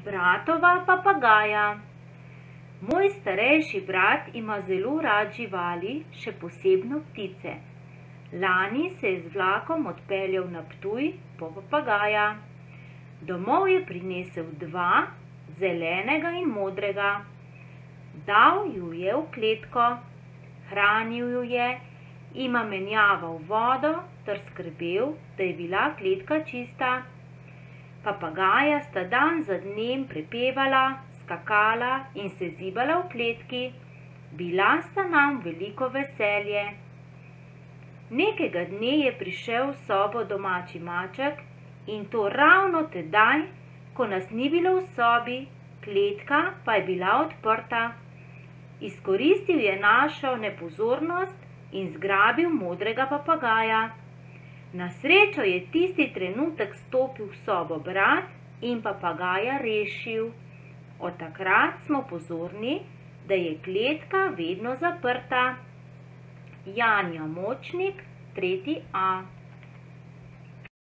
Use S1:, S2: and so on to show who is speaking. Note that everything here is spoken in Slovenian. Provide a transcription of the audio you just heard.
S1: Bratova papagaja. Moj starejši brat ima zelo rad živali, še posebno ptice. Lani se je z vlakom odpeljal na Ptuj po papagaja. Domov je prinesel 2, zelenega in modrega. Dal ju je v kletko, hranil ju je, jima menjaval vodo ter skrbel, da je bila kletka čista. Papagaja sta dan za dnem prepevala, skakala in se zibala v kletki. Bila sta nam veliko veselje. Nekega dne je prišel v sobo domači maček in to ravno tedaj, ko nas ni bilo v sobi, kletka pa je bila odprta. Izkoristil je našo nepozornost in zgrabil modrega papagaja. Na srečo je tisti trenutek stopil v sobo brat in papagaja rešil. Od takrat smo pozorni, da je kletka vedno zaprta. Janja Močnik, 3. A.